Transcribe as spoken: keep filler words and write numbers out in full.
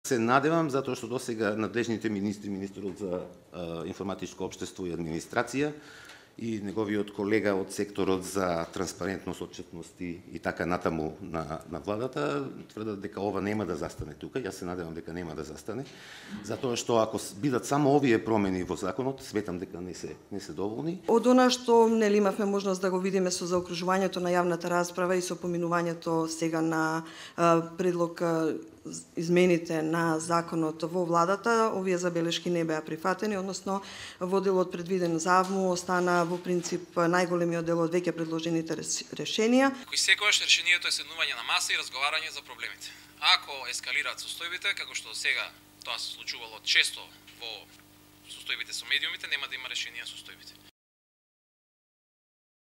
Се надевам, затоа што досега надлежните министри, министерот за а, информатичко општество и администрација и неговиот колега од секторот за транспарентност, отчетност и, и така натаму на, на владата, тврдат дека ова нема да застане тука. Јас се надевам дека нема да застане, затоа што ако бидат само овие промени во законот, сметам дека не се не се доволни. Од она што нели имавме можност да го видиме со заокружувањето на јавната расправа и со поминувањето сега на а, предлог а, измените на законот во владата, овие забелешки не беа прифатени, односно во делот предвиден за АВМУ остана во принцип најголемиот дел од веќе предложените решенија. Кој секогаш решението е седнување на маса и разговарање за проблемите. Ако ескалираат состојбите, како што сега тоа се случувало често во состојбите со медиумите, нема да има решение на состојбите.